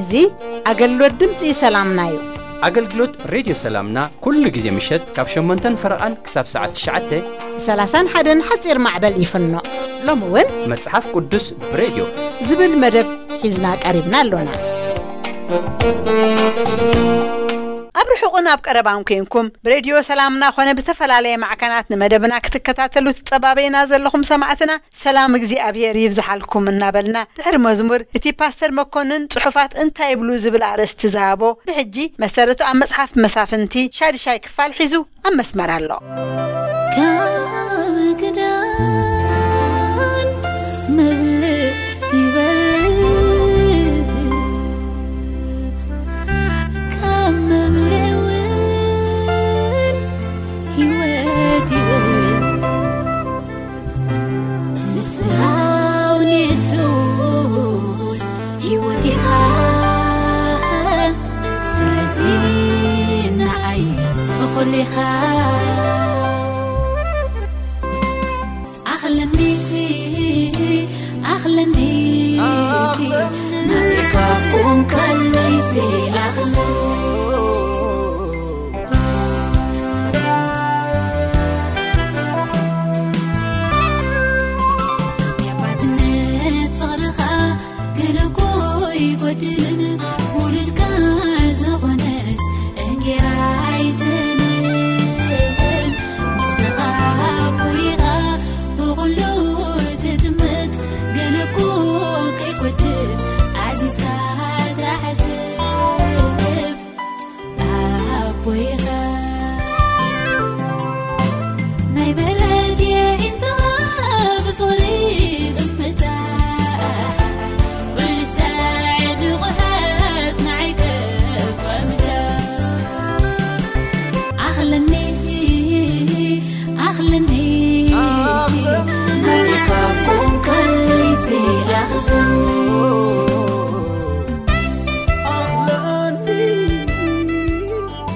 እዚ ኣገልግሎት ድምፂ ሰላምና እዩ። ኣገልግሎት ሬድዮ ሰላምና ኩሉ ግዜ ምሸት ካብ ሸሞንተን ፈረቓን ክሳብ ሰዓት ትሽዓተ ብ ሰላሳን ሓደን ሓፂር ማዕበል ይፍኖ። ሎሚ እውን መጽሓፍ ቅዱስ ብሬድዮ ዝብል መደብ ሒዝና ቀሪብና ኣሎና። ኣብ ርሑቕን ኣብ ቀረባን ኮንኩም ብሬድዮ ሰላምና ኮነ ብዝተፈላለየ ማዕከናት ንመደብና ክትከታተሉ ትጸባበዩና ዘለኹም ሰማዕትና፣ ሰላም እግዚኣብሔር ይብዝሓልኩም እናበልና፣ ድሕሪ መዝሙር እቲ ፓስተር መኮንን ጽሑፋት እንታይ ይብሉ ዝብል ኣርእስቲ ዝሃቦ፣ ብሕጂ መሰረቱ ኣብ መጽሓፍ መሳፍንቲ ሻድሻይ ክፋል ሒዙ ኣብ መስመር ኣሎ። ካብ ክዳን መብልዕ ይበልጽ፣ ካብ መብልዕ እውን ህይወት ይበልጽ። ንስኻ እውን የሱስ ህይወት ኢኻ፣ ስለዚ ንዓይ እኹል ኢኻ። ኣኽለኒ፣ ኣኽለኒ፣ ኣኽለኒ። ናትካ ቁም ከለይሲ ኣኽለኒ። የኣባትነት ፍቕርኻ ገለ እኮ ይጎድልን፣ ውሉድካ ዝኾነስ እንጌራ ኣይስእንን። ንስኻ ኣቦ ኢኻ ብኹሉ ትጥምት፣ ገለ እኮ ከይጎድል ኣዚዝካ ትሓስብ። ኣቦይኻ ናይ ምሕረት የዒንትኻ ብፍቕሪ ጥምታ፣ ኩሉ ሳዕ ንቑሓት ንዓይ ከቋምታ። ኣኽለኒ፣ ኣኽለኒ፣ ኣኽለኒ። ናትካ ኮንካ ልይሲ ኣኽስኒ።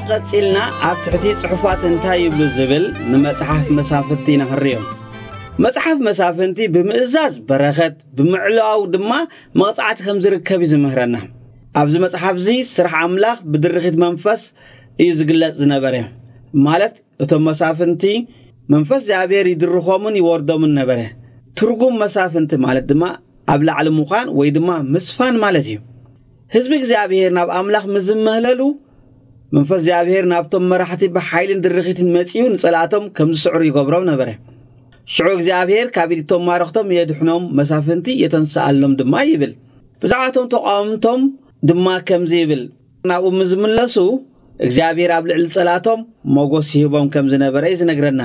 ቀጺልና ኣብ ትሕቲ ጽሑፋት እንታይ ይብሉ ዝብል ንመጽሓፍ መሳፍንቲ ኢና ክንርእዮ። መጽሓፍ መሳፍንቲ ብምእዛዝ በረኸት፣ ብምዕላው ድማ መቕጻዕቲ ከም ዝርከብ እዩ ዝምህረና። ኣብዚ መጽሓፍ እዚ ስራሕ ኣምላኽ ብድርኺት መንፈስ እዩ ዝግለጽ ዝነበረ። ማለት እቶም መሳፍንቲ መንፈስ እግዚኣብሔር ይድርኾምን ይወርዶምን ነበረ። ትርጉም መሳፍንቲ ማለት ድማ ኣብ ላዕሊ ምዃን ወይ ድማ ምስፋን ማለት እዩ። ህዝቢ እግዚኣብሔር ናብ ኣምላኽ ምስ ዝመህለሉ፣ መንፈስ እግዚኣብሔር ናብቶም መራሕቲ ብሓይልን ድርኺትን መጺኡ ንጸላእቶም ከም ዝስዕሩ ይገብሮም ነበረ። ሽዑ እግዚኣብሔር ካብ ኢድ እቶም ማረኽቶም የድሕኖም፣ መሳፍንቲ የተንስኣሎም ድማ ይብል። ብዛዕባቶም ተቃወምቶም ድማ ከምዚ ይብል፣ ናብኡ ምስ ዝምለሱ እግዚኣብሔር ኣብ ልዕሊ ጸላእቶም ሞጎስ ይህቦም ከም ዝነበረ እዩ ዝነግረና።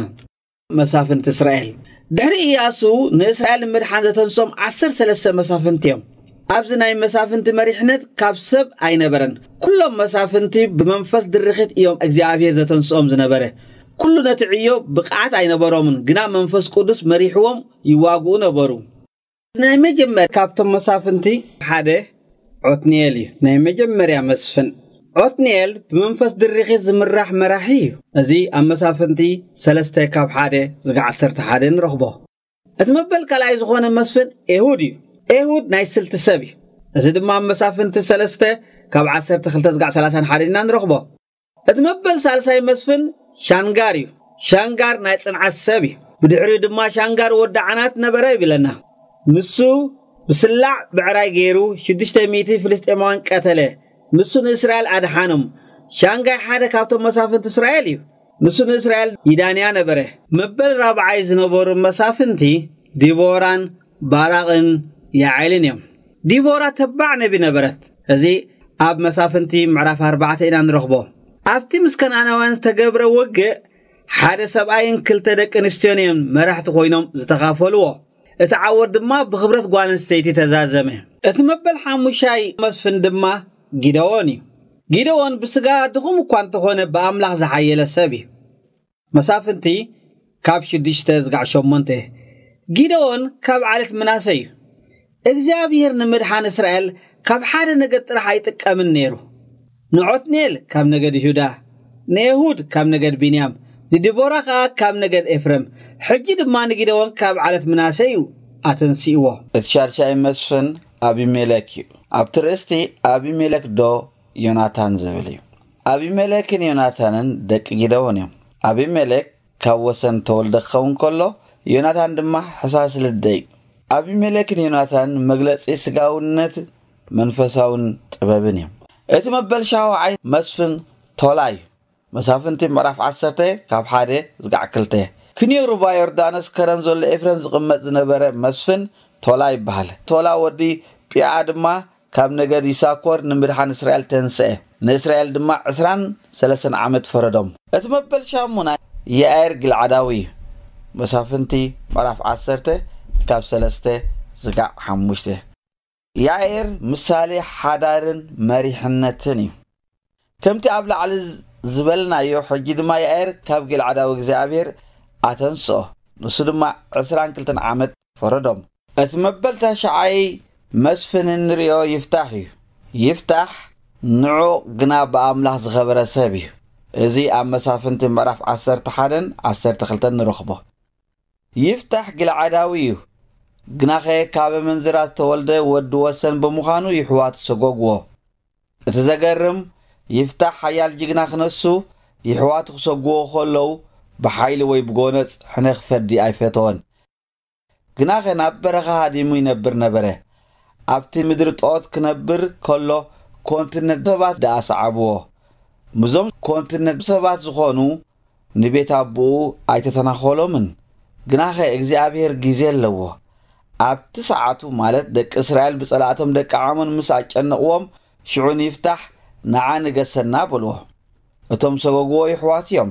መሳፍንቲ እስራኤል። ድሕሪ ኢያሱ ንእስራኤል ንምድሓን ዘተንስኦም ዓሰርተ ሰለስተ መሳፍንቲ እዮም። ኣብዚ ናይ መሳፍንቲ መሪሕነት ካብ ሰብ ኣይነበረን። ኩሎም መሳፍንቲ ብመንፈስ ድርኺት እዮም እግዚኣብሔር ዘተንስኦም ዝነበረ። ኩሉ ነቲ ዕዮ ብቕዓት ኣይነበሮምን፣ ግና መንፈስ ቅዱስ መሪሕዎም ይዋግኡ ነበሩ። ናይ መጀመርያ ካብቶም መሳፍንቲ ሓደ ዖትንኤል እዩ። ናይ መጀመርያ መስፍን። ዖትንኤል ብመንፈስ ድርኺት ዝምራሕ መራሒ እዩ። እዚ ኣብ መሳፍንቲ ሰለስተ ካብ ሓደ ዝጋ ዓሰርተ ሓደ ንረኽቦ። እቲ መበል ካልኣይ ዝኾነ መስፍን ኤሁድ እዩ። ኤሁድ ናይ ስልቲ ሰብ እዩ። እዚ ድማ ኣብ መሳፍንቲ ሰለስተ ካብ ዓሰርተ ክልተ ዝጋ ሰላሳን ሓደን ኢና ንረኽቦ። እቲ መበል ሳልሳይ መስፍን ሻንጋር እዩ። ሻንጋር ናይ ጽንዓት ሰብ እዩ። ብድሕሪኡ ድማ ሻንጋር ወዲ ዓናት ነበረ ይብለና። ንሱ ብስላዕ ብዕራይ ገይሩ ሽዱሽተ ሚእቲ ፍልስጤማውያን ቀተለ። ንሱ ንእስራኤል ኣድሓኖም። ሻንጋይ ሓደ ካብቶም መሳፍንቲ እስራኤል እዩ። ንሱ ንእስራኤል ይዳንያ ነበረ። መበል ራብዓይ ዝነበሩ መሳፍንቲ ዲቦራን ባራቕን ያዔልን እዮም። ዲቦራ ተባዕ ነቢ ነበረት። እዚ ኣብ መሳፍንቲ ምዕራፍ ኣርባዕተ ኢና ንረኽቦ። ኣብቲ ምስ ከነኣናውያን ዝተገብረ ውግእ ሓደ ሰብኣይን ክልተ ደቂ ኣንስትዮን እዮም መራሕቲ ኮይኖም ዝተኻፈልዎ። እቲ ዓወት ድማ ብኽብረት ጓል ኣንስተይቲ ተዛዘመ። እቲ መበል ሓሙሻይ መስፍን ድማ ጊደዎን እዩ። ጊደዎን ብስጋ ድኹም እኳ እንተኾነ ብኣምላኽ ዝሓየለ ሰብ እዩ። መሳፍንቲ ካብ ሽዱሽተ ዝጋዕ ሸሞንተ። ጊደዎን ካብ ዓሌት ምናሴ እዩ። እግዚኣብሔር ንምድሓን እስራኤል ካብ ሓደ ነገድ ጥራሕ ኣይጥቀምን ነይሩ። ንዖትንኤል ካብ ነገድ ይሁዳ፣ ንኤሁድ ካብ ነገድ ቢንያም፣ ንዲቦራ ኸኣ ካብ ነገድ ኤፍረም፣ ሕጂ ድማ ንጊደዎን ካብ ዓለት ምናሴ እዩ ኣተንሲእዎ። እቲ ሻድሻይ መስፍን ኣቢሜለክ እዩ። ኣብቲ ርእስቲ ኣቢሜለክ ዶ ዮናታን ዝብል እዩ። ኣቢሜለክን ዮናታንን ደቂ ጊደዎን እዮም። ኣቢሜለክ ካብ ወሰን ተወልደ ክኸውን ከሎ፣ ዮናታን ድማ ሕሳስ ልደ እዩ። ኣቢሜለክን ዮናታን መግለጺ ስጋውነት መንፈሳውን ጥበብን እዮም። እቲ መበል ሻውዓይ መስፍን ቶላ እዩ። መሳፍንቲ ምዕራፍ ዓሰርተ ካብ ሓደ ዝጋዕ ክልተ። ክንዮ ሩባ ዮርዳኖስ ከረን ዘሎ ኤፍሬም ዝቕመጥ ዝነበረ መስፍን ቶላ ይበሃል። ቶላ ወዲ ጲኣ ድማ ካብ ነገድ ይሳኮር ንምድሓን እስራኤል ተንስአ። ንእስራኤል ድማ ዕስራን ሰለስተን ዓመት ፈረዶም። እቲ መበል ሻሙናይ ያኤር ግልዓዳዊ እዩ። መሳፍንቲ ምዕራፍ ዓሰርተ ካብ ሰለስተ ዝጋዕ ሓሙሽተ። ያኤር ምሳሌ ሓዳርን መሪሕነትን እዩ። ከምቲ ኣብ ላዕሊ ዝበልናዮ፣ ሕጂ ድማ ያኤር ካብ ግልዓዳዊ እግዚኣብሔር ኣተንስኦ። ንሱ ድማ ዕስራን ክልተን ዓመት ፈረዶም። እቲ መበል ተሽዓይ መስፍን እንርእዮ ይፍታሕ እዩ። ይፍታሕ ንዑቕ ግና ብኣምላኽ ዝኸበረ ሰብ እዩ። እዚ ኣብ መሳፍንቲ ምዕራፍ ዓሰርተ ሓደን ዓሰርተ ክልተን ንረኽቦ። ይፍታሕ ግልዓዳዊ እዩ። ግናኸ ካብ ኣመንዝራ ዝተወልደ ወዲ ወሰን ብምዃኑ ይሕዋቱ ሰጎግዎ። እቲ ዘገርም፣ ይፍታሕ ሓያል ጅግና ክነሱ፣ ይሕዋቱ ክሰግዎ ከለዉ ብሓይሊ ወይ ብጎነጽ ሕነ ክፈዲ ኣይፈተወን። ግናኸ ናብ በረኻ ሃዲሙ ይነብር ነበረ። ኣብቲ ምድሪ ጦት ክነብር ከሎ ኮንቲነንት ሰባት ደኣ ሰዓብዎ። ምዞም ኮንቲነንት ሰባት ዝኾኑ ንቤት ኣቦኡ ኣይተተናኾሎምን። ግናኸ እግዚኣብሔር ግዜ ኣለዎ። ኣብቲ ሰዓቱ ማለት ደቂ እስራኤል ብጸላእቶም ደቂ ዓሞን ምስ ኣጨነቕዎም ሽዑ ንይፍታሕ ንዓ ንገሰና በልዎ። እቶም ሰጎግዎ ይሕዋት እዮም።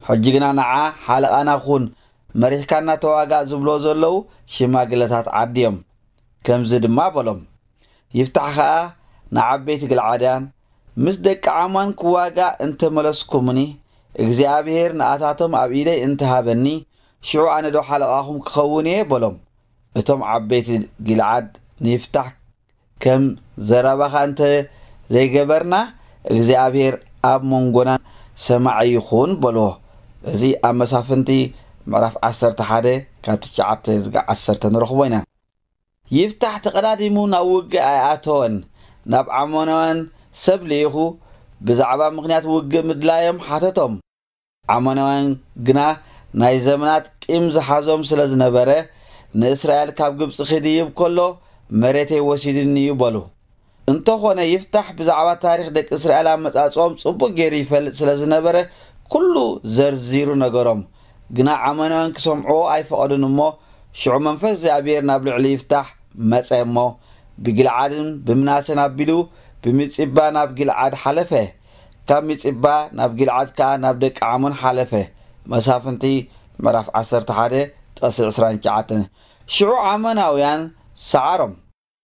ሕጂ ግና ንዓ ሓለቓና ኩን፣ መሪሕካና ተዋጋእ ዝብሎ ዘለዉ ሽማግለታት ዓዲ እዮም። ከምዚ ድማ በሎም፣ ይፍታሕ ኸኣ ንዓበይቲ ግልዓዳን ምስ ደቂ ዓማን ክዋጋእ እንተመለስኩምኒ እግዚኣብሔር ንኣታቶም ኣብ ኢደይ እንተሃበኒ ሽዑ ኣነ ዶ ሓለቓኹም ክኸውን እየ በሎም። እቶም ዓበይቲ ጊልዓድ ንይፍታሕ ከም ዘረባኻ እንተ ዘይገበርና እግዚኣብሔር ኣብ መንጎና ሰማዒ ይኹን በልዎ። እዚ ኣብ መሳፍንቲ ምዕራፍ ዓሰርተ ሓደ ካብ ትሽዓተ ዝጋ ዓሰርተ ንረኽቦ ኢና። ይፍታሕ ተቐዳዲሙ ናብ ውግእ ኣይኣተወን። ናብ ዓሞናውያን ሰብ ልኢኹ ብዛዕባ ምኽንያት ውግእ ምድላዮም ሓተቶም። ዓሞናውያን ግና ናይ ዘመናት ቂም ዝሓዞም ስለ ዝነበረ ንእስራኤል ካብ ግብጺ ክድይብ ከሎ መሬተይ ወሲድኒ እዩ በሉ። እንተኾነ ይፍታሕ ብዛዕባ ታሪኽ ደቂ እስራኤል ኣመጻጽኦም ጽቡቕ ገይሩ ይፈልጥ ስለ ዝነበረ ኩሉ ዘርዚሩ ነገሮም። ግና ዓሞናውያን ክሰምዕዎ ኣይፈቐዱን እሞ ሽዑ መንፈስ እግዚኣብሔር ናብ ልዕሊ ይፍታሕ መጸ እሞ ብጊልዓድን ብምናሴን ኣቢሉ ብሚጺባ ናብ ጊልዓድ ሓለፈ። ካብ ሚጺባ ናብ ጊልዓድ ከኣ ናብ ደቂ ዓሞን ሓለፈ። መሳፍንቲ ምዕራፍ ዓሰርተ ሓደ ጥቕሲ ዕስራን ትሽዓተን። ሽዑ ዓሞናውያን ሰዓሮም።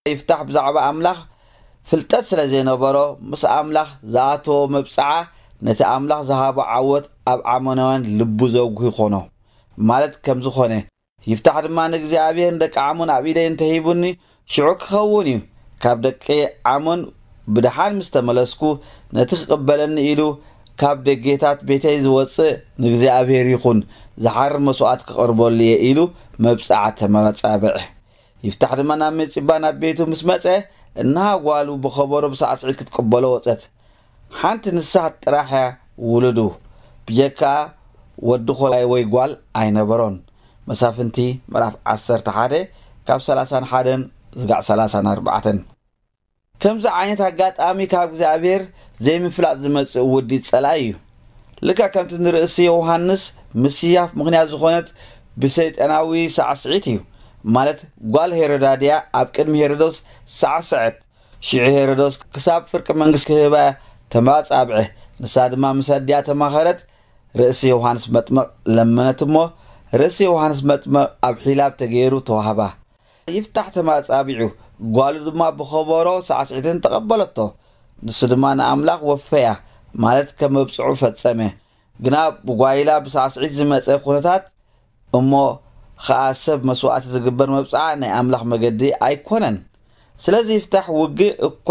ይፍታሕ ብዛዕባ ኣምላኽ ፍልጠት ስለ ዘይነበሮ ምስ ኣምላኽ ዝኣተዎ መብጽዓ ነቲ ኣምላኽ ዝሃቦ ዓወት ኣብ ዓሞናውያን ልቡ ዘጉሂ ኮኖ። ማለት ከምዚ ኾነ። ይፍታሕ ድማ ንእግዚኣብሔር ንደቂ ዓሞን ኣብ ኢደይ እንተሂቡኒ ሽዑ ክኸውን እዩ። ካብ ደቂ ዓሞን ብደሓን ምስ ተመለስኩ ነቲ ክቕበለኒ ኢሉ ካብ ደጌታት ቤተይ ዝወጽእ ንእግዚኣብሔር ይኹን ዝሓርር መስዋእቲ ክቐርበሉ እየ ኢሉ መብጽዓ ተመጻብዐ። ይፍታሕ ድማ ናብ መጺባ ናብ ቤቱ ምስ መጸ እንሃ ጓሉ ብኸበሮ ብሳዕስዒት ክትቅበሎ ወጸት። ሓንቲ ንሳ ጥራሕ እያ ውሉዱ፣ ብጀካ ወዲ ኾላይ ወይ ጓል ኣይነበሮን። መሳፍንቲ ምዕራፍ ዓሰርተ ሓደ ካብ ሰላሳን ሓደን ዝጋዕ ሰላሳን ኣርባዕተን። ከምዚ ዓይነት ኣጋጣሚ ካብ እግዚኣብሔር ዘይምፍላጥ ዝመጽእ ውዲት ጸላኢ እዩ። ልክዕ ከምቲ ንርእሲ ዮሃንስ ምስያፍ ምኽንያት ዝኾነት ብሰይጣናዊ ሳዕስዒት እዩ። ማለት ጓል ሄሮዳድያ ኣብ ቅድሚ ሄሮዶስ ሳዕስዐት። ሽዑ ሄሮዶስ ክሳብ ፍርቂ መንግስቲ ክህባ ተማጻብዐ። ንሳ ድማ ምስ ኣዲኣ ተማኸረት፣ ርእሲ ዮሃንስ መጥምቕ ለመነት እሞ ርእሲ ዮሃንስ መጥምቕ ኣብ ሒላብ ተገይሩ ተዋህባ። ይፍታሕ ተማጻቢዑ፣ ጓሉ ድማ ብኸበሮ ሳዕስዒትን ተቐበለቶ። ንሱ ድማ ንኣምላኽ ወፈያ፣ ማለት ከም መብጽዑ ፈጸመ። ግና ብጓይላ ብሳዕስዒት ዝመጸ ኩነታት እሞ ኸኣ ሰብ መስዋእቲ ዝግበር መብጽዓ ናይ ኣምላኽ መገዲ ኣይኮነን። ስለዚ ይፍታሕ ውግእ እኳ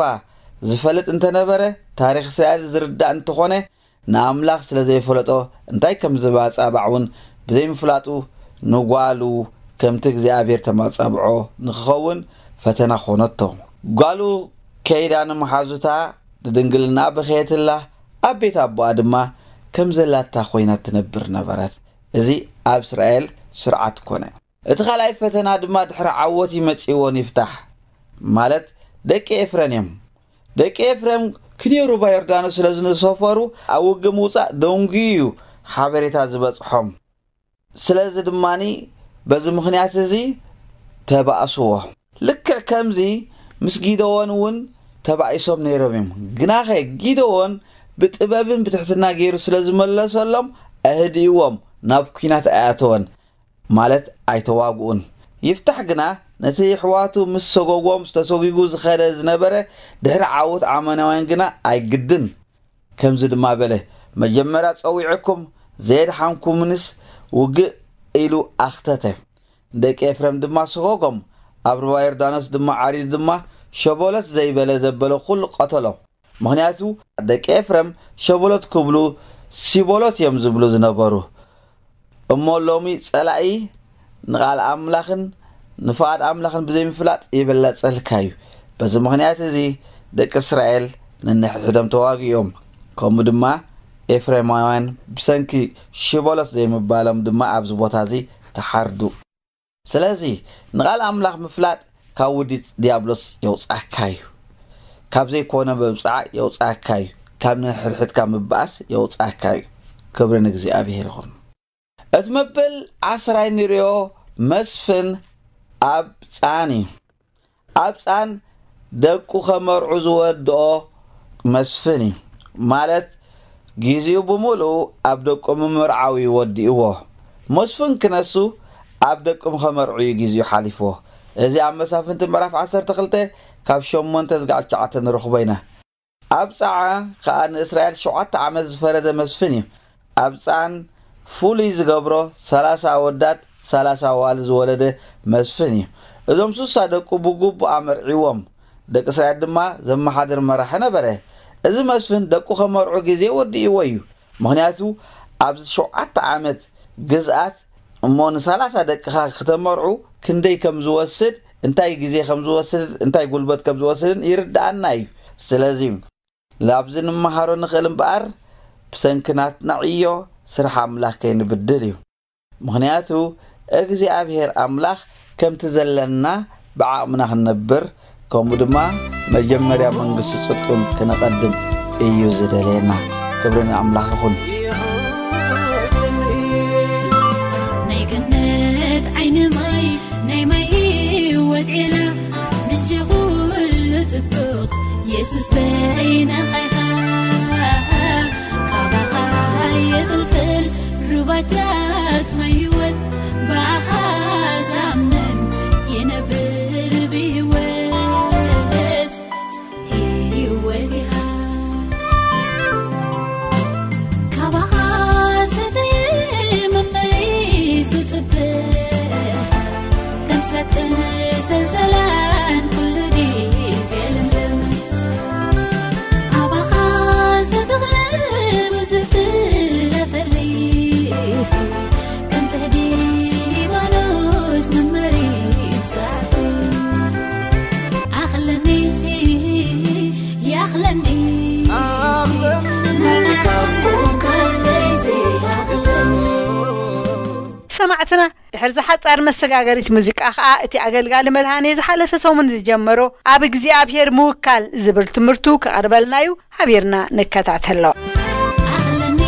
ዝፈልጥ እንተነበረ፣ ታሪኽ እስራኤል ዝርዳእ እንተኾነ፣ ንኣምላኽ ስለ ዘይፈለጦ እንታይ ከም ዝባጻባዕ እውን ብዘይምፍላጡ፣ ንጓሉ ከምቲ እግዚኣብሔር ተማጻብዖ ንክኸውን ፈተና ኾነቶ። ጓሉ ከይዳ ንመሓዙታ ንድንግልና በኸየትላ፣ ኣብ ቤት ኣቦኣ ድማ ከም ዘላታ ኮይና ትነብር ነበረት። እዚ ኣብ እስራኤል ስርዓት ኮነ። እቲ ካልኣይ ፈተና ድማ ድሕሪ ዓወት ይመጽእዎ ንይፍታሕ፣ ማለት ደቂ ኤፍረን እዮም። ደቂ ኤፍረም ክልተ ሩባ ዮርዳኖስ ስለ ዝሰፈሩ፣ ኣብ ውግእ ምውጻእ ደንጉዩ እዩ ሓበሬታ ዝበጽሖም። ስለዚ ድማኒ በዚ ምኽንያት እዚ ተባእስዎ። ልክዕ ከምዚ ምስ ጊደዎን እውን ተባኢሶም ነይሮም እዮም። ግናኸ ጊደዎን ብጥበብን ብትሕትና ገይሩ ስለ ዝመለሰሎም፣ ኣህድእዎም፣ ናብ ኲናት ኣይኣተወን፣ ማለት ኣይተዋግኡን። ይፍታሕ ግና ነቲ የሕዋቱ ምስ ሰጎጎም ተሰጒጉ ዝኸደ ዝነበረ፣ ድሕሪ ዓወት ኣማናውያን ግና ኣይግድን። ከምዚ ድማ በለ፣ መጀመርያ ጸዊዐኩም ዘየድሓንኩምንስ ውግእ ኢሉ ኣኽተተ። ደቂ ኤፍረም ድማ ሰጎጎም፣ ኣብ ሩባ ዮርዳኖስ ድማ ዓሪዱ ድማ ሸቦሎት ዘይበለ ዘበለ ኩሉ ቀተሎ። ምኽንያቱ ደቂ ኤፍረም ሸቦሎት ክብሉ ሲቦሎት እዮም ዝብሉ ዝነበሩ። እሞ ሎሚ ጸላኢ ንቓል ኣምላኽን ንፍቓድ ኣምላኽን ብዘይምፍላጥ ይበላጸልካ እዩ። በዚ ምኽንያት እዚ ደቂ እስራኤል ነንሕድሕዶም ተዋጊኦም። ከምኡ ድማ ኤፍሬማውያን ብሰንኪ ሽቦሎት ዘይምባሎም ድማ ኣብዚ ቦታ እዚ ተሓርዱ። ስለዚ ንቓል ኣምላኽ ምፍላጥ ካብ ውዲት ዲያብሎስ የውጻካ እዩ። ካብ ዘይኮነ መብጽዓ የውጻካ እዩ። ካብ ነንሕድሕድካ ምባኣስ የውጻካ እዩ። ክብሪ ንእግዚኣብሔር ይኹን። እቲ መበል ዓስራይ ንሪኦ መስፍን ኣብ ጻን እዩ። ኣብ ጻን ደቁ ከመርዑ ዝወድኦ መስፍን እዩ። ማለት ጊዜኡ ብምሉኡ ኣብ ደቁ ምምርዓው እዩ ወዲእዎ። መስፍን ክነሱ ኣብ ደቁም ከመርዑ እዩ ጊዜኡ ሓሊፍዎ። እዚ ኣብ መሳፍንቲ ምዕራፍ ዓሰርተ ክልተ ካብ ሸሞንተ ዝጋዕ ትሽዓተ ንረኽቦ ኢና። ኣብ ጻዓ ከኣ ንእስራኤል ሸውዓተ ዓመት ዝፈረደ መስፍን እዩ። ኣብ ጻን ፍሉይ ዝገብሮ ሰላሳ ኣወዳት ሰላሳ ኣዋልድ ዝወለደ መስፍን እዩ። እዞም ሱሳ ደቁ ብግቡእ ኣመርዒዎም። ደቂ እስራኤል ድማ ዘመሓድር መራሒ ነበረ። እዚ መስፍን ደቁ ከመርዑ ግዜ ወዲእዎ እዩ። ምኽንያቱ ኣብዚ ሸውዓተ ዓመት ግዝኣት እሞ ንሰላሳ ደቅኻ ክተመርዑ ክንደይ ከም ዝወስድ፣ እንታይ ግዜ ከም ዝወስድ፣ እንታይ ጉልበት ከም ዝወስድን ይርድኣና እዩ። ስለዚ ላብዚ ንመሃሮ ንኽእል እምበኣር፣ ብሰንኪ ናትና ዕዮ ስራሕ ኣምላኽ ከይንብድል እዩ። ምኽንያቱ እግዚኣብሔር ኣምላኽ ከምቲ ዘለና ብዓቕምና ክንነብር፣ ከምኡ ድማ መጀመርያ መንግስቲ ጽድቅን ክነቐድም እዩ ዝደልየና። ክብሪ ንኣምላኽ ይኹን። ናይ ገነት ዓይኒ ማይ፣ ናይ ማይ ህይወት ዒላ፣ ምንጪ ኩሉ ጽቡቕ የሱስ በይንኻ ኢኻ። ካባኻ ይቕልቀል ሩባታት ማይ ህይወት፣ ብኣኻ ዝኣምን ይነብር ብህይወት። ህይወት ኢኻ። ካባኻ ዝተየ መመሊሱ ጽብቕ፣ ከም ሰጥን ሰልሰላን ኩሉ ግዜ ልምልም። ኣባኻ ዝተተኽለ ብዙሕ ፍረ ፈሪ፣ ከም ጽሕዲ ሊባኖስ መመሊሱ ዓቢ። ኣኽለኒ፣ ይኣኽለኒ፣ ኣኽለኒ፣ ናትካ እኮ ካልሲ ኣኽሰኒ። ሰማዕትና፣ ድሕሪ ዝሓጻር መሰጋገሪት ሙዚቃ ኸኣ እቲ ኣገልጋሊ መድሃኔ ዝሓለፈ ሰሙን ዝጀመሮ ኣብ እግዚኣብሔር ምውካል ዝብል ትምህርቱ ክቐርበልና እዩ። ሓቢርና ንከታተሎ። ኣኽለኒ፣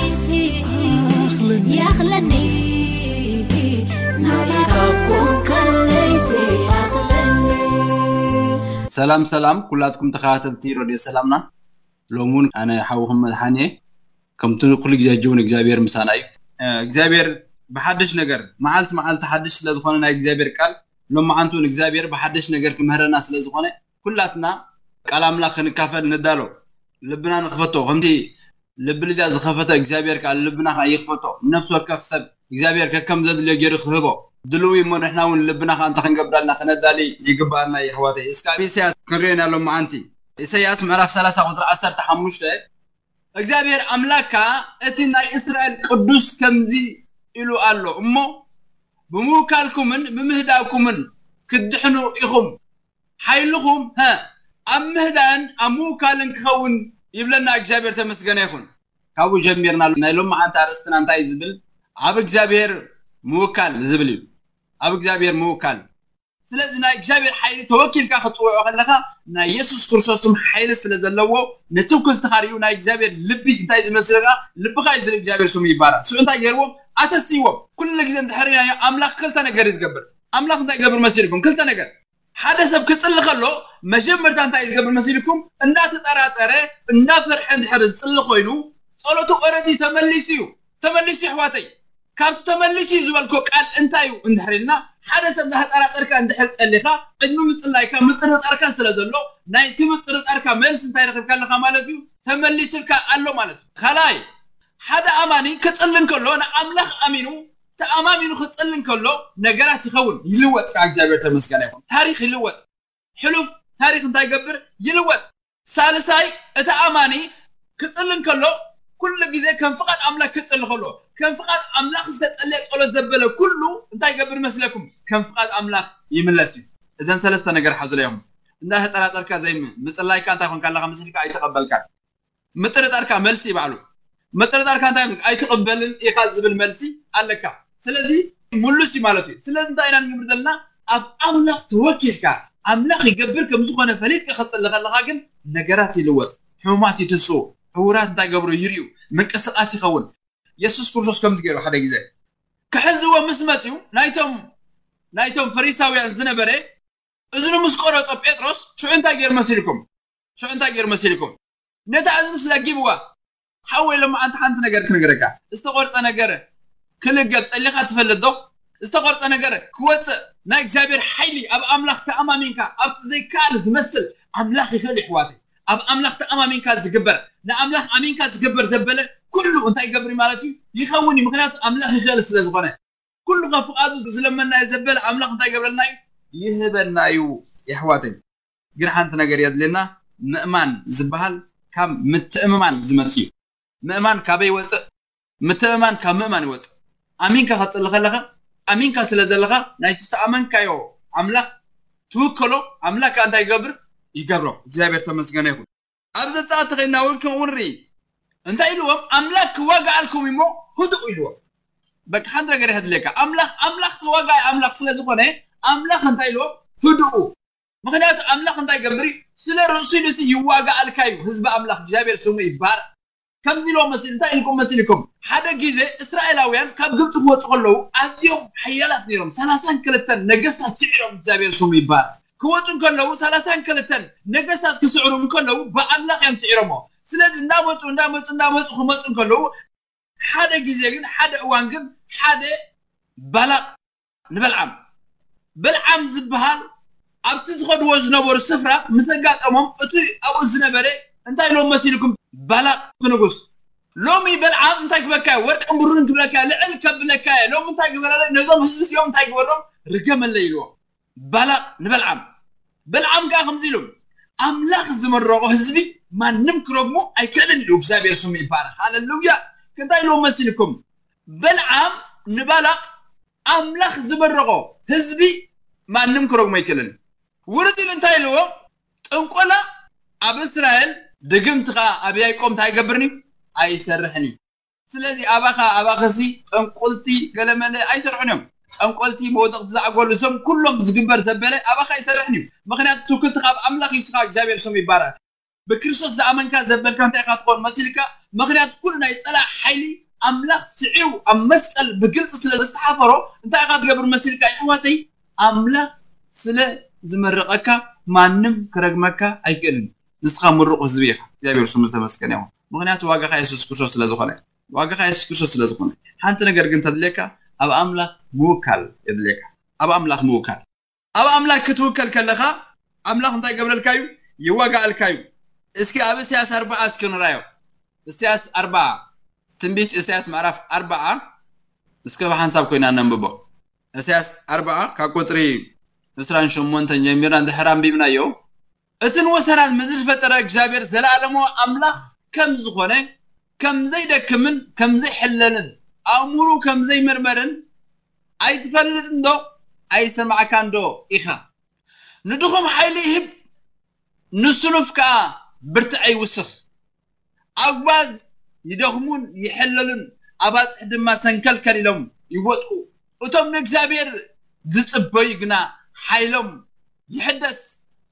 ይኣኽለኒ፣ ናትካ እኮ ካልሲ ኣኽለኒ። ሰላም ሰላም ኩላትኩም ተኸታተልቲ ረድዮ ሰላምና። ሎሚ እውን ኣነ ሓውኹም መድሓኔ፣ ከምቲ ኩሉ ግዜ ሕጂ እውን እግዚኣብሔር ምሳና እዩ። እግዚኣብሔር ብሓድሽ ነገር፣ መዓልቲ መዓልቲ ሓድሽ ስለ ዝኾነ ናይ እግዚኣብሔር ቃል፣ ሎማዓንቲ እውን እግዚኣብሔር ብሓድሽ ነገር ክምህረና ስለ ዝኾነ፣ ኩላትና ቃል ኣምላኽ ክንካፈል ንዳሎ። ልብና ንኽፈቶ፣ ከምቲ ልቢ ልድያ ዝኸፈተ እግዚኣብሔር ከኣ ልብና ከኣ ይኽፈቶ። ነፍሲ ወከፍ ሰብ እግዚኣብሔር ከከም ዘድልዮ ገይሩ ክህቦ። ድልው እሞ ንሕና እውን ልብና ከኣ እንታይ ክንገብር ኣለና? ክነዳሊ ይግባኣና እዩ ኣሕዋተይ። እስከ ኣብ ኢሳያስ ክንሪኦ ኢና ሎማዓንቲ። ኢሳያስ ምዕራፍ ሰላሳ ቁፅሪ ዓሰርተ ሓሙሽተ፣ እግዚኣብሔር ኣምላክ ከኣ እቲ ናይ እስራኤል ቅዱስ ከምዚ ኢሉ ኣሎ እሞ፣ ብምውካልኩምን ብምህዳእኩምን ክትድሕኑ ኢኹም። ሓይልኹም ሀ ኣብ ምህዳእን ኣብ ምውካልን ክኸውን ይብለና። እግዚኣብሔር ተመስገነ ይኹን። ካብኡ ጀሚርና ናይ ሎማዓንቲ ኣርእስትና እንታይ እዩ ዝብል? ኣብ እግዚኣብሔር ምውካል ዝብል እዩ። ኣብ እግዚኣብሔር ምውካል። ስለዚ ናይ እግዚኣብሔር ሓይሊ ተወኪልካ ክትፅውዖ ከለካ ናይ የሱስ ክርስቶስ ስም ሓይሊ ስለ ዘለዎ ንትውክልትካ ርእዩ ናይ እግዚኣብሔር ልቢ እንታይ ዝመስል ከኣ ልብካ እዩ ዝርኢ። እግዚኣብሔር ስሙ ይባረክ። ስዑ እንታይ ገይርዎም? ኣተስይዎም። ኩሉ ግዜ እንድሕር ኢልናዮ ኣምላኽ ክልተ ነገር እዩ ዝገብር። ኣምላኽ እንታይ ይገብር መሲልኩም? ክልተ ነገር። ሓደ ሰብ ክጽሊ ከሎ መጀመርታ እንታይ እዩ ዝገብር መሲልኩም? እንዳተጠራጠረ እንዳፈርሐ እንድሕር ዝጽሊ ኮይኑ ጸሎቱ ኦረዲ ተመሊሱ እዩ። ተመሊሱ እዩ ኣሕዋተይ። ካብቲ ተመሊሱ እዩ ዝበልኮ ቃል እንታይ እዩ እንድሕር ኢልና ሓደ ሰብ እንዳተጠራጠርካ እንድሕር ጸሊኻ ቅድሚ ምጽላይካ ምጥርጣርካ ስለ ዘሎ ናይቲ ምጥርጣርካ መልሲ እንታይ ረኺብካ ኣለኻ ማለት እዩ? ተመሊሱልካ ኣሎ ማለት እዩ። ካልኣይ ሓደ ኣማኒ ክጽሊ እንከሎ ንኣምላኽ ኣሚኑ ተኣማሚኑ ክጽሊ እንከሎ ነገራት ይኸውን ይልወጥ። ካብ እግዚኣብሔር ተመስገነ ይኹን። ታሪክ ይልወጥ። ሕሉፍ ታሪክ እንታይ ይገብር? ይልወጥ። ሳልሳይ እቲ ኣማኒ ክጽሊ እንከሎ ኩሉ ግዜ ከም ፍቓድ ኣምላኽ ክጽሊ ከሎ ከም ፍቓድ ኣምላኽ ዝተጸለየ ጸሎት ዘበለ ኩሉ እንታይ ይገብር መስለኩም? ከም ፍቓድ ኣምላኽ ይምለስ እዩ። እዘን ሰለስተ ነገር ሓዝለዮም። እንዳ ተጠራጠርካ ዘይም ምጽላይካ እንታይ ኮንካ ኣለኻ መስልካ ኣይተቐበልካን። ምጥርጣርካ መልሲ ባዕሉ ምጥርጣርካ እንታይ ኣይትቕበልን ኢኻ ዝብል መልሲ ኣለካ። ስለዚ ሙሉስ እዩ ማለት እዩ። ስለዚ እንታይ ኢና ንገብር ዘለና? ኣብ ኣምላኽ ተወኪልካ ኣምላኽ ይገብር ከም ዝኾነ ፈሊጥካ ክጽሊ ከለኻ ግን ነገራት ይልወጥ። ሕሙማት ይትንስኡ፣ ዕውራት እንታይ ገብሩ ይርእዩ፣ ምንቅስቃስ ይኸውን። የሱስ ክርስቶስ ከምዚ ገይሩ ሓደ ግዜ ክሕዝዎ ምስ መፅኡ ናይቶም ናይቶም ፈሪሳውያን ዝነበረ እዝኑ ምስ ቆረጦ ጴጥሮስ ሽዑ እንታይ ገይሩ መሲልኩም? ሽዑ እንታይ ገይሩ መሲልኩም? ነታ እዝንስ ለጊብዋ። ሓወይ ሎሚ ኣንቲ ሓንቲ ነገር ክነግረካ። ዝተቆርፀ ነገር ክልገብ ፀሊኻ ትፈልጥ ዶ? ዝተቆርፀ ነገር ክወፅእ ናይ እግዚኣብሔር ሓይሊ ኣብ ኣምላኽ ተኣማሚንካ ኣብቲ ዘይከኣል ዝመስል ኣምላኽ ይኽእል ይሕዋተይ። ኣብ ኣምላኽ ተኣማሚንካ ዝግበር ንኣምላኽ ኣሚንካ ዝግበር ዘበለ ኩሉ እንታይ ይገብር ማለት እዩ? ይኸውን እዩ። ምክንያቱ ኣምላኽ ይኽእል ስለ ዝኾነ ኩሉ ካብ ፍቓዱ ዝለመናዮ ዘበለ ኣምላኽ እንታይ ይገብረልና እዩ? ይህበና እዩ። የሕዋተይ ግን ሓንቲ ነገር የድልየና። ምእማን ዝበሃል ካብ ምትእምማን ዝመጽእ እዩ። ምእማን ካበይ ይወፅእ? ምትእምማን ካብ ምእማን ይወፅእ። ኣሚንካ ከፅሊ ከለካ ኣሚንካ ስለ ዘለካ ናይቲ ዝተኣመንካዮ ኣምላኽ ትውከሎ። ኣምላኽ ከዓ እንታይ ይገብር? ይገብሮ። እግዚኣብሔር ተመስገነ ይኹን። ኣብ ዘፃእቲ ከይድና እውን ከምኡ ንርኢ። እንታይ ኢልዎም? ኣምላኽ ክዋጋኣልኩም እሞ ህድኡ ኢልዎም። በቃ ሓንቲ ነገር የድልየካ። ኣምላኽ ኣምላኽ ተዋጋኢ ኣምላኽ ስለ ዝኾነ ኣምላኽ እንታይ ኢልዎም? ህድኡ። ምክንያቱ ኣምላኽ እንታይ ይገብር እዩ? ስለ ርእሱ ኢሉ ሲ ይዋጋኣልካ እዩ። ህዝቢ ኣምላኽ እግዚኣብሔር ስሙ ይባረክ። ከምዚ ኢልዎም መሲሉ እንታይ ኢልኩም መሲልኩም? ሓደ ግዜ እስራኤላውያን ካብ ግብፂ ክወፁ ከለዉ ኣዝዮም ሓያላት ነይሮም። ሰላሳን ክልተን ነገስታት ስዒሮም እግዚኣብሔር ስሙ ይባረክ። ክወፁ እንከለዉ ሰላሳን ክልተን ነገስታት ክስዕሩ እንከለዉ ብኣምላኽ እዮም ስዒሮሞ። ስለዚ እንዳመፁ እንዳመፁ እንዳመፁ ክመፁ እንከለዉ ሓደ ግዜ ግን ሓደ እዋን ግን ሓደ ባላቅ ንበልዓም በልዓም ዝበሃል ኣብቲ ዝኸድዎ ዝነበሩ ስፍራ ምስ ኣጋጠሞም እቲ ኣብኡ ዝነበረ እንታይ ኢሎም መሲልኩም? ባላቅ ንጉስ ሎሚ በልዓም እንታይ ክበካ ወርቅን ብሩርን ክብለካ ልዕል ከብለካ ሎሚ እንታይ ግበረለ ነዞም ህዝቢ እዚኦም እንታይ ግበሮም ርገመለ ኢልዎም። ባላቅ ንበልዓም በልዓም ከዓ ከምዚ ኢሉ ኣምላኽ ዝመረቆ ህዝቢ ማንም ክረግሞ ኣይክእልን ኢሉ እግዚኣብሔር ስሙ ይባረክ። ሃለሉያ። እንታይ ኢልዎም መሲልኩም? በልዓም ንባላቅ ኣምላኽ ዝመረቆ ህዝቢ ማንም ክረግሞ ኣይክእልን። ውርድ ኢሉ እንታይ ኢልዎ? ጥንቆላ ኣብ እስራኤል ድግምቲ ከዓ ኣብ ያዕቆብ እንታይ ኣይገብርን እዩ? ኣይሰርሕን እዩ። ስለዚ ኣባኻ ኣባኸሲ ጠንቆልቲ ገለመለ ኣይሰርሕን እዮም። ጠንቆልቲ መወደቕቲ ዛዕጎሉ እዞም ኩሎም ዝግበር ዘበለ ኣባኻ ኣይሰርሕን እዩ። ምክንያቱ ትውክልቲ ካብ ኣምላኽ እዩ። ስኻ እግዚኣብሔር ስሙ ይባረክ። ብክርስቶስ ዝኣመንካ ዘበልካ እንታይ ኢኻ ትኾን መሲልካ? ምክንያቱ ኩሉ ናይ ፀላእ ሓይሊ ኣምላኽ ስዒሩ ኣብ መስቀል ብግልፂ ስለ ዝተሓፈሮ እንታይ ኢኻ ትገብር መሲልካ? ይሕዋተይ ኣምላኽ ስለ ዝመረቐካ ማንም ክረግመካ ኣይክእልን። ንስኻ ምሩቕ ህዝቢ ኢኻ። እግዚኣብሔር ስሙ ዝተመስገነ ይኹን። ምክንያቱ ዋጋኻ የሱስ ክርስቶስ ስለ ዝኾነ ዋጋኻ የሱስ ክርስቶስ ስለ ዝኾነ ሓንቲ ነገር ግን ተድልየካ ኣብ ኣምላኽ ምውካል የድልየካ። ኣብ ኣምላኽ ምውካል ኣብ ኣምላኽ ክትውከል ከለኻ ኣምላኽ እንታይ ገብረልካ እዩ? ይዋጋኣልካ እዩ። እስኪ ኣብ እስያስ ኣርባዓ እስኪ ንራዮ። እስያስ ኣርባዓ ትንቢት እስያስ ምዕራፍ ኣርባዓ እስከ ብሓንሳብ ኮይና ነንብቦ። እሳያስ ኣርባዓ ካብ ቁፅሪ ዕስራን ሸሞንተን ጀሚርና እንድሕር ኣንቢብናዮ፣ እቲ ንወሰናት ምድሪ ዝፈጠረ እግዚኣብሔር ዘለኣለማዊ ኣምላኽ ከም ዝኾነ፣ ከም ዘይደክምን ከም ዘይሕለልን፣ ኣእምሩ ከም ዘይምርመርን ኣይትፈልጥን ዶ? ኣይሰማዕካን ዶ ኢኻ? ንድኹም ሓይሊ ይህብ፣ ንስኑፍ ከኣ ብርትዐ ይውስኽ። ኣጉባዝ ይደኽሙን ይሕለሉን፣ ኣባጽሕ ድማ ሰንከልከል ኢሎም ይወድቁ። እቶም ንእግዚኣብሔር ዝጽበዩ ግና ሓይሎም ይሕደስ፣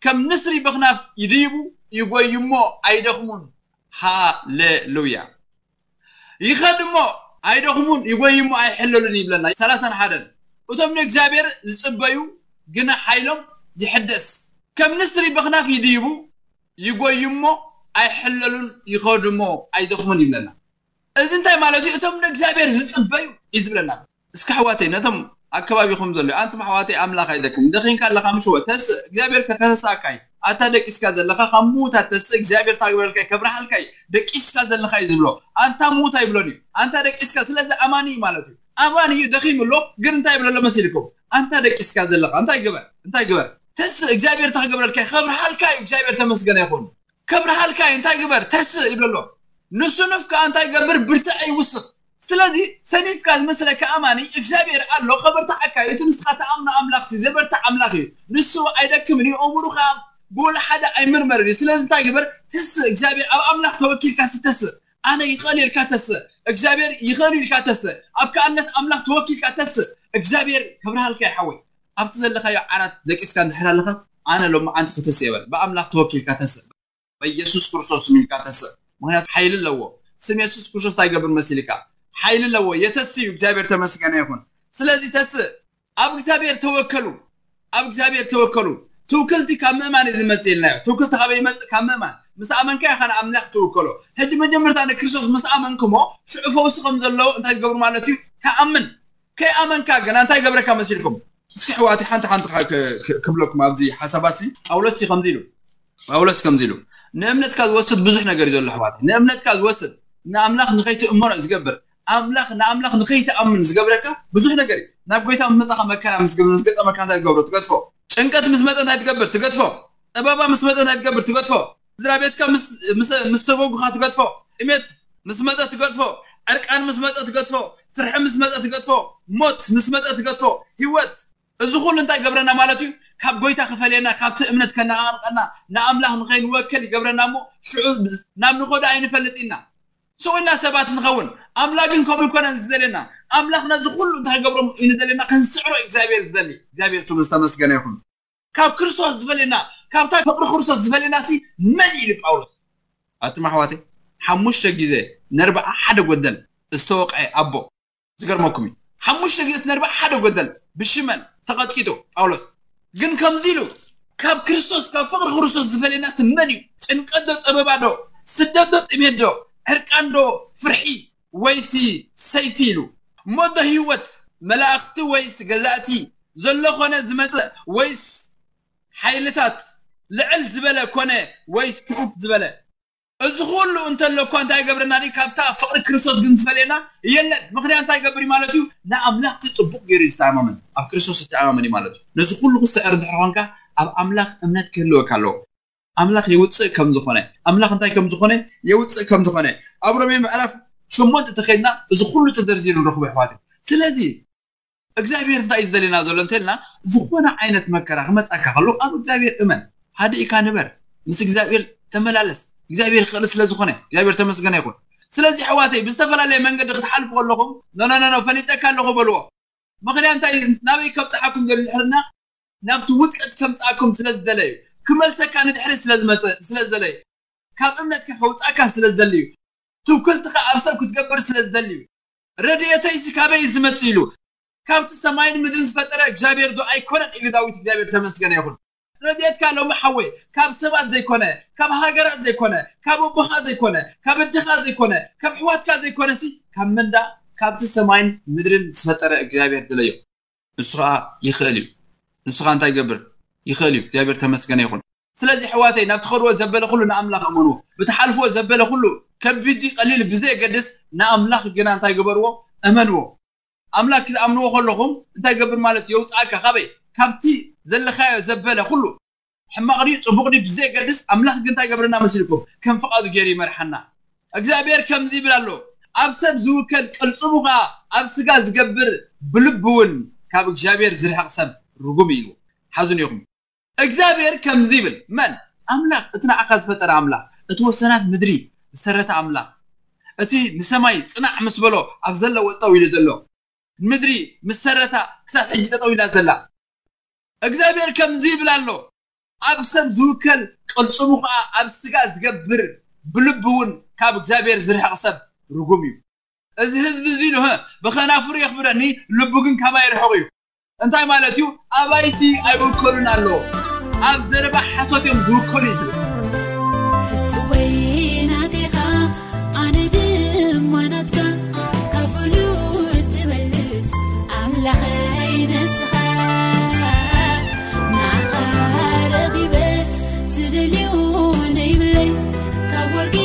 ከም ንስሪ በኽናፍ ይድይቡ፣ ይጎዩ እሞ ኣይደኽሙን። ሃሌሉያ። ይኸድ እሞ ኣይደኽሙን፣ ይጎዩ እሞ ኣይሕለሉን ይብለና። ሰላሳን ሓደን፣ እቶም ንእግዚኣብሔር ዝጽበዩ ግና ሓይሎም ይሕደስ፣ ከም ንስሪ በኽናፍ ይድይቡ፣ ይጎዩ እሞ ኣይሕለሉን፣ ይኸዱ እሞ ኣይደኽሙን ይብለና። እዚ እንታይ ማለት እዩ? እቶም ንእግዚኣብሔር ዝጽበዩ እዩ ዝብለና። እስኪ ኣሕዋተይ፣ ነቶም ኣብ ከባቢኹም ዘሎ፣ ኣንቱም ኣሕዋተይ፣ ኣምላኽ ኣይደክምን። ደኺምካ ኣለኻ፣ ምሽ ወ ተስእ፣ እግዚኣብሔር ከተሳካ እዩ። ኣንታ ደቂስካ ዘለኻ ካብ ምዉታት ተስእ፣ እግዚኣብሔር ታግበረልካ እዩ፣ ከብርሃልካ እዩ። ደቂስካ ዘለኻ እዩ ዝብሎ። ኣንታ ምዉት ኣይብሎን እዩ። ኣንታ ደቂስካ፣ ስለዚ ኣማኒ እዩ ማለት እዩ። ኣማኒ እዩ፣ ደኺሙ ኣሎ፣ ግን እንታይ ይብሎ ኣሎ መሲልኩም? ኣንታ ደቂስካ ዘለኻ፣ እንታይ ግበር? እንታይ ግበር? ተስእ፣ እግዚኣብሔር ታግበረልካ እዩ፣ ከብርሃልካ እዩ። እግዚኣብሔር ተመስገነ ይኹን። ከብርሃልካ እዩ፣ እንታይ ግበር? ተስእ ይብሎ ኣሎ። ንስኑፍ ከኣ እንታይ ይገብር? ብርትዐ ይውስኽ። ስለዚ ሰኒፍካ ዝመስለካ ኣማኒ እግዚኣብሔር ኣሎ፣ ከበርትዓካ እዩ። እቲ ንስኻ ትኣምኖ ኣምላኽ ሲ ዘበርትዕ ኣምላኽ እዩ። ንሱ ኣይደክምን እዩ፣ ኣእምሩ ከኣ ብወላ ሓደ ኣይምርመርን እዩ። ስለዚ እንታይ ግበር? ተስእ፣ እግዚኣብሔር ኣብ ኣምላኽ ተወኪልካ ሲ ተስእ። ኣነ ይኽእል ኢልካ ተስእ፣ እግዚኣብሔር ይኽእል ኢልካ ተስእ፣ ኣብ ከኣነት ኣምላኽ ተወኪልካ ተስእ። እግዚኣብሔር ከብርሃልካ እዩ ሓወይ። ኣብቲ ዘለኻዮ ዓራት ደቂስካ እንድሕር ኣለኻ፣ ኣነ ሎማዓንቲ ክተስእ እየ በል። ብኣምላኽ ተወኪልካ ተስእ። በኢየሱስ ክርስቶስ ስም ኢልካ ተስእ። ምኽንያቱ ሓይሊ ኣለዎ። ስም የሱስ ክርስቶስ እንታይ ይገብር መሲልካ? ሓይሊ ኣለዎ። የተስእ እዩ። እግዚኣብሔር ተመስገነ ይኹን። ስለዚ ተስእ። ኣብ እግዚኣብሔር ተወከሉ። ኣብ እግዚኣብሔር ተወከሉ። ትውክልቲ ካብ ምእማን እዩ ዝመጽእ ኢልናዮ። ትውክልቲ ካበይ ይመጽእ? ካብ ምእማን። ምስ ኣመንካ ኢኻ ንኣምላኽ ትውከሎ። ሕጂ መጀመርታ ንክርስቶስ ምስ ኣመንክሞ ሽዑ ፈውሲ ከም ዘሎ እንታይ ትገብሩ ማለት እዩ? ትኣምን። ከይኣመንካ ግና እንታይ ገብረካ መሲልኩም? እስኪ ኣሕዋተይ ሓንቲ ሓንቲ ካ-፣ ክ-፣ ክ-፣ ክብለኩም ኣብዚ ሓሳባት ሲ። ጳውሎስ ሲ ከምዚ ኢሉ። ጳውሎስ ከምዚ ኢሉ። ንእምነትካ ዝወስድ ብዙሕ ነገር እዩ ዘሎ ኣሕዋተይ። ንእምነትካ ዝወስድ ንኣምላኽ ንኸይትእመኖ እዩ ዝገብር። ኣምላኽ ንኣምላኽ ንኸይትኣምን ዝገብረካ ብዙሕ ነገር እዩ። ናብ ጎይታ ምስ መጻኻ መከራ ምስ ገ-፣ ምስ ገጠመካ እንታይ ትገብሮ? ትገድፎ። ጭንቀት ምስ መጸ እንታይ ትገብር? ትገድፎ። ጸበባ ምስ መጸ እንታይ ትገብር? ትገድፎ። ስድራ ቤትካ ምስ፣ ምስ፣ ምስ ተጎጉኻ ትገድፎ። ጥሜት ምስ መጸ ትገድፎ። ዕርቃን ምስ መጸ ትገድፎ። ፍርሒ ምስ መጸ ትገድፎ። ሞት ምስ መጸ ትገድፎ። ህይወት። እዚ ኩሉ እንታይ ገብረና ማለት እዩ? ካብ ጎይታ ክፈልየና፣ ካብቲ እምነት ከነቓርቀና፣ ንኣምላኽ ንኸይንወከል ይገብረና እሞ ሽዑ ናብ ንኸዶ ኣይንፈልጥ ኢና። ስቕ ኢልና ሰባት ንኸውን። ኣምላኽ ግን ከምኡ ይኮነን ዝደልየና። ኣምላኽ ነዚ ኩሉ እንታይ ክገብሮ እዩ ዝደልየና? ክንስዕሮ እዩ እግዚኣብሔር ዝደሊ። እግዚኣብሔር ስሙ ዝተመስገነ ይኹን። ካብ ክርስቶስ ዝፈልየና፣ ካብታ ፍቕሪ ክርስቶስ ዝፈልየና ሲ መን እዩ ኢሉ ጳውሎስ? ኣቱም ኣሕዋተይ፣ ሓሙሽተ ግዜ ነርብዓ ሓደ ጎደል ዝተወቕዐ ኣቦ። ዝገርመኩም እዩ። ሓሙሽተ ግዜ ነርብዓ ሓደ ጎደል ብሽመል ተቐጥቂጡ ጳውሎስ። ግን ከምዚ ኢሉ፣ ካብ ክርስቶስ፣ ካብ ፍቕሪ ክርስቶስ ዝፈልየና ሲ መን እዩ? ጭንቀት ዶ፣ ጸበባ ዶ፣ ስደት ዶ፣ ጥሜት ዶ፣ ዕርቃን ዶ፣ ፍርሒ ወይሲ ሰይፊ ኢሉ። ሞት ዶ፣ ህይወት፣ መላእኽቲ ወይስ ገዛእቲ፣ ዘሎ ኮነ ዝመጸ ወይስ ሓይልታት፣ ልዕል ዝበለ ኮነ ወይስ ትሕት ዝበለ? እዚ ኩሉ እንተሎ እኳ እንታይ ይገብረና ድዩ? ካብታ ፍቕሪ ክርስቶስ ግን ዝፈልየና የለን። ምኽንያት እንታይ ይገብር እዩ ማለት እዩ? ንኣምላኽ ጽቡቕ ገይሩ እዩ ዝተኣማመን። ኣብ ክርስቶስ ዝተኣማመን እዩ ማለት እዩ። ነዚ ኩሉ ክስዕር እንድሕር ኮንካ ኣብ ኣምላኽ እምነት ክህልወካ ኣለዎ። ኣምላኽ የውጽእ ከም ዝኾነ፣ ኣምላኽ እንታይ ከም ዝኾነ የውጽእ ከም ዝኾነ ኣብ ሮሜ ምዕራፍ ሸሞንተ ተኸይድና እዚ ኩሉ ተዘርዚሩ ንረኽቦ ኣሕዋት። ስለዚ እግዚኣብሔር እንታይ እዩ ዝደልየና ዘሎ እንተልና፣ ዝኾነ ዓይነት መከራ ክመጻካ ከሎ ኣብ እግዚኣብሔር እመን፣ ሃዲእካ ንበር፣ ምስ እግዚኣብሔር ተመላለስ። እግዚኣብሔር ይኽእል ስለ ዝኾነ እግዚኣብሔር ተመስገነ ይኹን። ስለዚ ኣሕዋተይ ብዝተፈላለየ መንገዲ ክትሓልፉ ከለኹም ኖ ኖ ኖ ኖ ፈሊጠካ ኣለኹ በልዎ። ምኽንያት እንታይ? ናበይ ከብጽሓኩም ዘሎ ድሕርና ናብቲ ውድቀት ከምጽኣኩም ስለ ዝደለዩ፣ ክመልሰካ ንድሕሪ ስለ ዝመጸ ስለ ዝደለዩ፣ ካብ እምነትካ ከውጻካ ስለ ዝደልዩ፣ ትውክልትኻ ኣብ ሰብ ክትገብር ስለ ዝደልዩ፣ ረድኤተይሲ ካበይ እዩ ዝመጽእ ኢሉ፣ ካብቲ ሰማይን ምድርን ዝፈጠረ እግዚኣብሔር ዶ ኣይኮነን ኢሉ ዳዊት። እግዚኣብሔር ተመስገነ ይኹን። ረድኤትካ ሎሚ ሓወይ ካብ ሰባት ዘይኮነ፣ ካብ ሃገራት ዘይኮነ፣ ካብ ኣቦኻ ዘይኮነ፣ ካብ ኣደኻ ዘይኮነ፣ ካብ ኣሕዋትካ ዘይኮነሲ ካብ መንዳ ካብቲ ሰማይን ምድርን ዝፈጠረ እግዚኣብሔር ድለዮ። ንሱ ኸዓ ይኽእል እዩ። ንሱ ኸዓ እንታይ ይገብር? ይኽእል እዩ። እግዚኣብሔር ተመስገነ ይኹን። ስለዚ ኣሕዋተይ ናብ ትኸድዎ ዘበለ ኩሉ ንኣምላኽ እመንዎ። ብትሓልፍዎ ዘበለ ኩሉ ከቢድ ድዩ ቀሊል ብዘየገድስ ንኣምላኽ ግና እንታይ ግበርዎ? እመንዎ። ኣምላክ ክትኣምንዎ ከለኹም እንታይ ገብር ማለት የውፅኣካ ካበይ? ካብቲ ዘለካዮ ዘበለ ኩሉ ሕማቕ ድዩ ጽቡቕ ድዩ ብዘየገድስ ኣምላኽ ግን እንታይ ገብረና መሲልኩም ከም ፍቓዱ ገይሩ ይመርሓና። እግዚኣብሔር ከምዚ ይብል ኣሎ፣ ኣብ ሰብ ዝውከል ቅልጽሙ ኸዓ ኣብ ስጋ ዝገብር ብልቢ እውን ካብ እግዚኣብሔር ዝርሕቕ ሰብ ርጉም እዩ ኢሉ። ሓዝን ኢኹም። እግዚኣብሔር ከምዚ ይብል፣ መን? ኣምላኽ፣ እቲ ንዓኻ ዝፈጠረ ኣምላኽ፣ እቲ ወሰናት ምድሪ ዝሰረተ ኣምላኽ፣ እቲ ንሰማይ ጽናዕ ምስ በሎ ኣብ ዘለዎ ጠው ኢሉ ዘሎ፣ ምድሪ ምስ ሰረታ ክሳብ ሕጂ ጠጠው ኢላ ዘላ። እግዚኣብሔር ከምዚ ይብል ኣሎ፣ ኣብ ሰብ ዝውከል ቅልጽሙ ኸዓ ኣብ ስጋ ዝገብር ብልቢ እውን ካብ እግዚኣብሔር ዝርሕቕ ሰብ ርጉም እዩ። እዚ ህዝቢ እዚ ኢሉ፣ "ህ፣ ብኸናፍሩ የኽብረኒ፣ ልቡ ግን ካባይ ርሑቕ እዩ።" እንታይ ማለት እዩ? ኣባይሲ ኣይውከሉን ኣለዎ። ኣብ ዘረባ ሓሶት እዮም ዝውከሉ እዩ ዝብል። ፍትወይ ናቴኻ፣ ኣነ ድማ ናትካ፣ ካብ ብሉጽ ትበልጽ ኣምላኸይ ንስኻ። ንዓኻ ረኺበ ዝደልዮ ነይብለይ፣ ካብ ወርቂ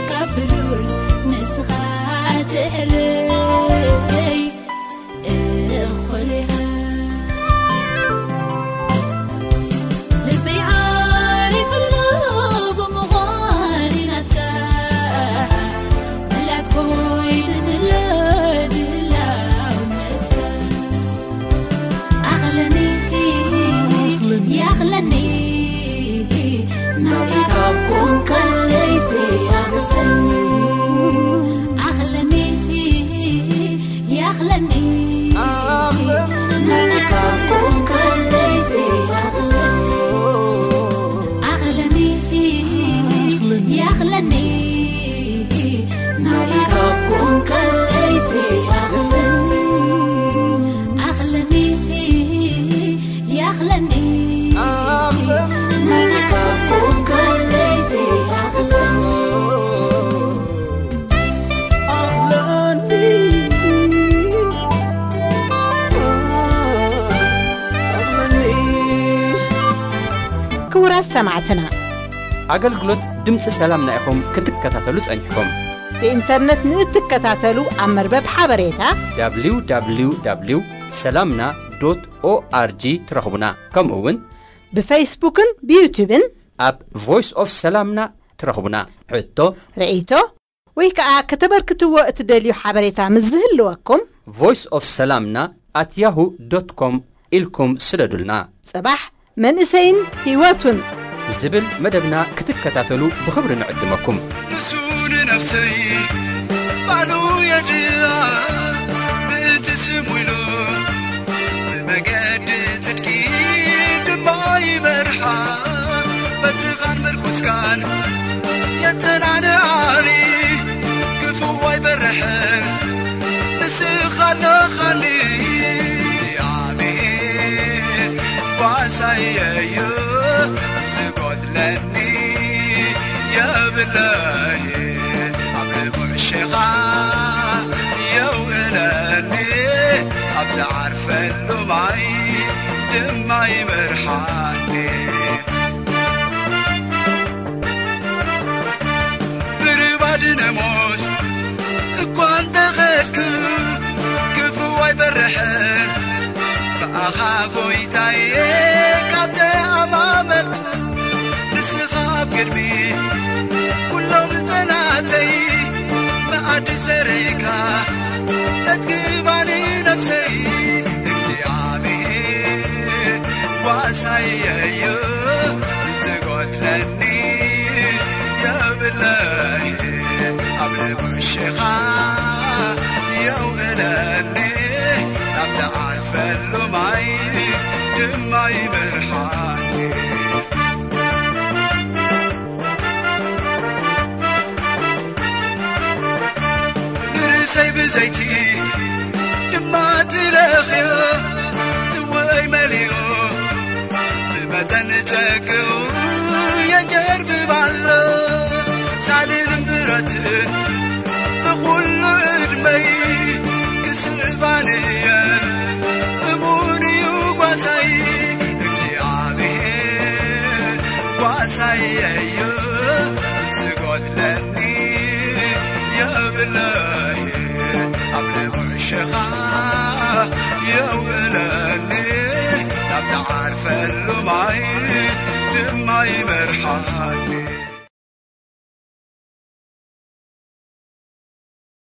ካብ ብሩር ንስኻ ትሕረይ። እኹል ኢኻ። ልበይ ዓሪፍሉ ብምዃን ናትካ፣ ምላት ኮይንንለ ድላውነትካ። ኣኽለኒ፣ ይኣኽለኒ፣ ናትካ ኮንካ ለይሰ ኣኽሰኒ። ኣኽለኒ፣ ይኣኽለኒ፣ ኣኽለኒ። ናትካ ኮንካ ለይሰ ኣኽሰኒ። ኣኽለኒ፣ ኣኽለኒ። ይኣኽለኒ፣ ናትካ ኮንካ ለይሰ ኣኽሰኒ። ኣኽለኒ፣ ይኣኽለኒ፣ ኣኽለኒ። ናትካ ኮንካ ለይሰ ኣኽሰኒ። ኣኽለኒ፣ ኣኽለኒ። ክቡራት ሰማዕትና፣ ኣገልግሎት ድምፂ ሰላምና ኢኹም ክትከታተሉ ጸኒሕኩም። ብኢንተርነት ንእትከታተሉ ኣብ መርበብ ሓበሬታ ደብሊው ደብሊው ደብሊው ሰላምና ዶት ኦኣርጂ ትረኽቡና። ከምኡ እውን ብፌስቡክን ብዩቱብን ኣብ ቮይስ ኦፍ ሰላምና ትረኽቡና። ሕቶ፣ ርእይቶ ወይ ከኣ ከተበርክትዎ እትደልዩ ሓበሬታ ምስ ዝህልወኩም ቮይስ ኦፍ ሰላምና ኣት ያሁ ዶት ኮም ኢልኩም ስደዱልና። ጽባሕ መንእሰይን ህይወቱን ዝብል መደብና ክትከታተሉ ብኽብሪ ንዕድመኩም። ንሱ ንነፍሰይ ባዕሉ የድኣ፣ ብእቲ ስሙ ኢሉ ብመገዲ ጽድቂ ድማ ይመርሓ። በትኻን ምርኩስካን የተናንኣኒ፣ ክፉእ ኣይበርሕን ንስኻ ኣለኻኒ። እግዚኣብሔር ጓሳይ እዩ፣ ዝጎድለኒ የብለይ። ኣብ ርቡዕ ሸኻ የውዕለኒ፣ ኣብ ዝዓርፈሉ ማይ ድማ ይመርሓኒ። ብርባድ ነሞት እኳ እንተኸድኩ፣ ክፉእ ኣይፈርሕን። ብኣኻ ጎይታዬ ካብ ተኣማመንኩ፣ ንስኻ ኣብ ቅድሚ ኩሎም ጠላተይ መኣዲ ሰሪዕካ ተትግባኒ ነፍሰይ። እግዚኣብሔር ጓሳይ እዩ፣ ዝጎድለኒ የብለይ። ኣብ ርቡዕ ሸኻ የውዕለኒ፣ ናብ ዝዓርፈሉ ማይ ድማ ይመርሓኒ። ንርእሰይ ብዘይቲ ድማ ትለኽዮ፣ ጽዋኣይ መሊኡ ብመጠን ጸግኡ የንጀርብብ ኣሎ። ሳልልን ብረትን ብኹሉ ዕድመይ ክስዕባን እየን፣ እሙን እዩ ጓሳይ። እግዚኣብሔር ጓሳይ እዩ፣ ዝጎድለኒ የብለይ። ኣብ ልዑል ሸኻ የውዕለኒ፣ ናብ ዝዓርፈሉ ማይ ድማ ይመርሓኒ።